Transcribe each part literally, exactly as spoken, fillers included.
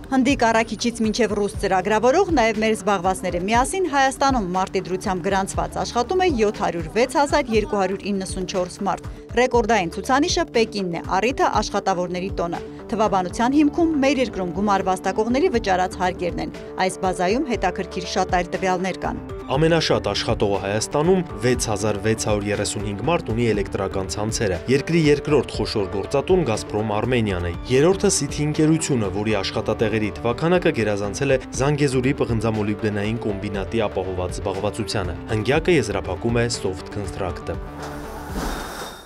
Հնդիկ առաքիչից մինչև ռուս ծրագրավորող, նաև մեր զբաղվածները միասին Հայաստանում մարտի դրությամբ գրանցված աշխատում է յոթ հարյուր վեց հազար երկու հարյուր իննսունչորս մարդ։ Ռեկորդային ցուցանիշը Պեկինն է, առիթը աշխատավորների տոնը։ Թվաբանության հիմքում մեր երկրում գումար վաստակողների վճարած հարկերն են։ Այս բազայում հետաքրքիր շատ այլ տվյալներ կան։ Ամենաշատ աշխատողը Հայաստանում վեց հազար վեց հարյուր երեսունհինգ մարդ ունի էլեկտրական ցանցերը։ Երկրի երկրորդ խոշոր գործատուն Գազպրոմ Արմենիան է։ Երրորդը Սիթի ընկերությունը, որի աշխատատեղերի թվաքանակը գերազանցել է Զանգեզուրի պղնձամոլիբդենային կոմբինատի ապահոված զբաղվածությանը։ Հնգյակը եզրափակում է Soft Construct-ը։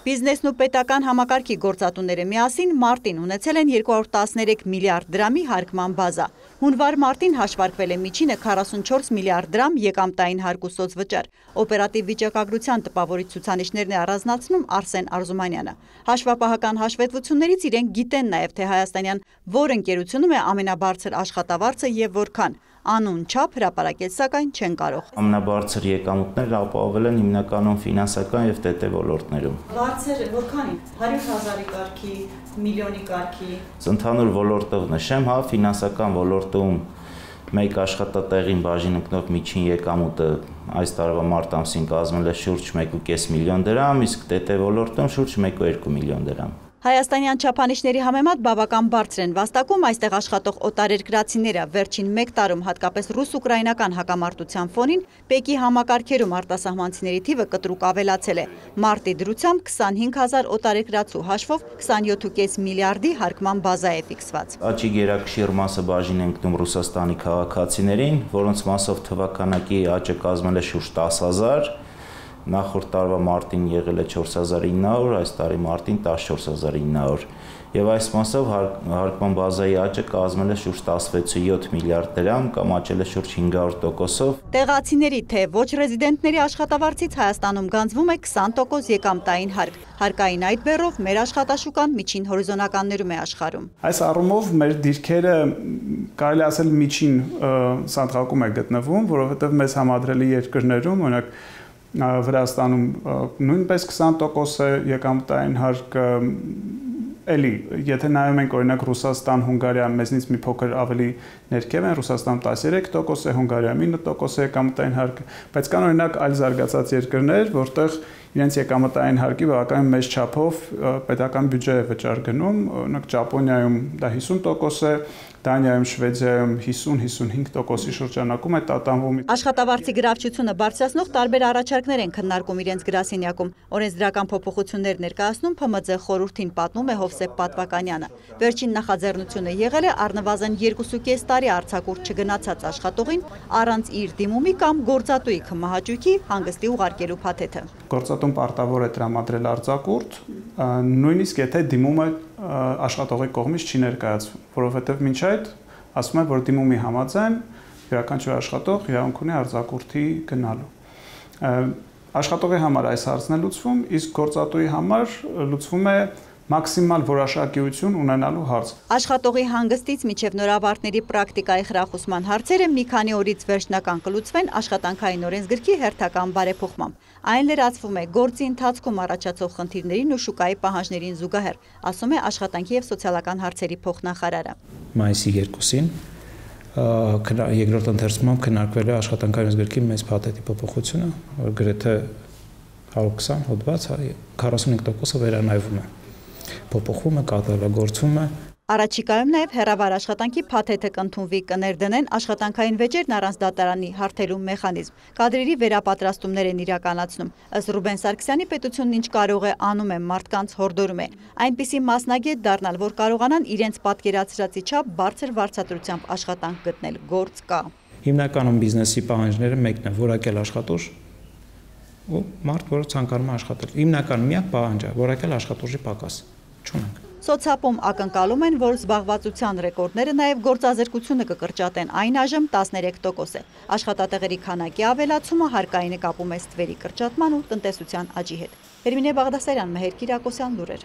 Բիզնեսն ու պետական համակարգի գործատուները միասին մարտին ունեցել են երկու հարյուր տասներեք միլիարդ դրամի հարկման բազա։ Հունվար մարտին հաշվարկվել է միջինը քառասունչորս միլիարդ դրամ եկամտային հարկ ու սոցվճար։ Օպերատիվ վիճակագրության տպավորիչ ցուցանիշներն է առանձնացնում Արսեն Արզումանյանը։ Հաշվապահական հաշվետվություններից իրենք գիտեն նաև, թե հայաստանյան որ ընկերությունում է ամենաբարձր աշխատավարձը եւ որքան։ Անուն չափ հրապարակել սակայն չեն կարող։ Ամենաբարձր եկամուտները ապահովել են հիմնականում ֆինանսական եւ ՏՏ ոլորտներում։ Բարձր որքանի։ հարյուր հազարի կարգի, միլիոնի կարգի։ Ընդհանուր ոլորտով նշեմ, հա, ֆինանսական ոլորտում մեկ աշխատատեղին բաժին ընկնող միջին եկամուտը այս տարվա մարտ ամսին կազմել է շուրջ մեկ ու կես միլիոն դրամ, իսկ ՏՏ ոլորտում շուրջ մեկ ու երկու միլիոն դրամ։ Հայաստանյան չափանիշների համեմատ բավական բարձր են վաստակում այստեղ աշխատող օտարերկրացիները։ Վերջին մեկ տարում հատկապես ռուս-ուկրաինական հակամարտության ֆոնին Պեկի համակարգերում արտասահմանցիների թիվը կտրուկ ավելացել է։ Մարտի դրությամբ քսանհինգ հազար օտարերկրացու հաշվով քսանյոթ ու կես միլիարդի հարկման բազա է ֆիքսված։ Աճի գերակշիռ մասը բաժին ընկնում Ռուսաստանի քաղաքացիներին, որոնց մասով թվականակի աճը կազմել է շուրջ տասը հազար։ Նախորդ տարվա մարտին եղել է չորս հազար ինը հարյուր, այս տարի մարտին տասնչորս հազար ինը հարյուր։ Եվ այս մասով հարկման բազայի աճը կազմել է շուրջ տասնվեց ու յոթ միլիարդ դրամ կամ աճել է շուրջ հինգ հարյուր տոկոսով։ Տեղացիների թե ոչ ռեզիդենտների աշխատավարձից Հայաստանում գանձվում է քսան տոկոս եկամտային հարկ։ Հարկային այդ բեռով մեր աշխատաշուկան միջին հորիզոնականներում է աշխարհում։ Այս առումով մեր դիրքերը կարելի ասել միջին սանդղակում է գտնվում, որովհետև մեզ համադրելի երկրներում, օրինակ Վրաստանում նույնպես քսան տոկոս է եկամտային հարկը, էլի, եթե նայում ենք օրինակ Ռուսաստան, Հունգարիա մեզնից մի փոքր ավելի ներքև են, Ռուսաստանում տասներեք տոկոս է, Հունգարիայում ինը տոկոս է եկամտային հարկը, բայց կան օրինակ այլ զարգացած երկրներ, որտեղ իրենց եկամտային հարկի բավականին մեծ չափով պետական բյուջե է վճար գնում, օրինակ Ճապոնիայում դա հիսուն տոկոս է, Դանիայում, Շվեդիայում հիսուն հիսունհինգ տոկոսի շրջանակում է տատանվում։ Աշխատավարձի գրավչությունը բարձրացնող տարբեր առաջարկներ են քննարկում իրենց գրասենյակում։ Օրենսդրական փոփոխություններ ներկայացնում Փ Մ Ձ խորհրդին, պատմում է Հովսեփ Պատվականյանը։ Վերջին նախաձեռնությունը եղել է առնվազն երկուսուկես տարի արձակուրդ չգնացած աշխատողին առանց իր դիմումի կամ գործատուի քմահաճույքի հանգստի ուղարկելու փաթեթը։ Գործատուն պարտավոր է տրամադրել արձակուրդ, նույնիսկ եթե դիմումը աշխատողի կողմից չի ներկայացվում, որովհետև մինչ այդ ասում է, որ դիմումի համաձայն յուրաքանչյուր աշխատող իրավունք ունի արձակուրդի գնալու։ Աշխատողի համար այս հարցն է լուծվում, իսկ գործատուի համար լուծվում է մաքսիմալ որոշակիություն ունենալու հարց։ Աշխատողի հանգստից մինչև նորավարտների պրակտիկայի խրախուսման հարցերը մի քանի օրից վերջնական կլուծվեն աշխատանքային օրենսգրքի հերթական բարեփոխմամբ։ Այն լրացվում է գործի ընթացքում առաջացող խնդիրներին ու շուկայի պահանջներին զուգահեռ, ասում է Աշխատանքի և սոցիալական հարցերի փոխնախարարը։ Մայիսի երկուսին երկրորդ ընթերցումով քննարկվել է աշխատանքային օրենսգրքի մեծ փաթեթի փոփոխությունը, որ գրեթե հարյուր քսան հոդված քառասունհինգ տոկոսը վերանայվում է, փոփոխվում է, կատարելագործվում է։ Առաջիկայում նաև հեռավար աշխատանքի փաթեթը կընդունվի, կներդնեն աշխատանքային վեճերն առանց դատարանի հարթելու մեխանիզմ, կադրերի վերապատրաստումներ են իրականացնում։ Ըստ Ռուբեն Սարգսյանի, պետությունն ինչ կարող է անում է, մարդկանց հորդորում է, այնպիսի մասնագետ դառնալ, որ կարողանան իրենց պատկերացրածի չափ բարձր վարձատրությամբ աշխատանք գտնել, գործ կա։ Հիմնականում բիզնեսի պահանջները մեկն է՝ որակել աշխատուժ ու մարդ, որը ցանկանում է աշխատել։ Հիմնական միակ պահանջը որակել աշխատուժի պակաս չունենք։ Սոցիապում ակնկալում են, որ զբաղվածության ռեկորդները նաև գործազրկությունը կկրճատեն, այն այժմ տասներեք տոկոս է։ Աշխատատեղերի քանակի ավելացումը հարկային է կապում է ստվերի կրճատման ու տնտեսության աճի հետ։ Հերմինե Բաղդասարյան, Մեհեր Կիրակոսյան, լուրեր։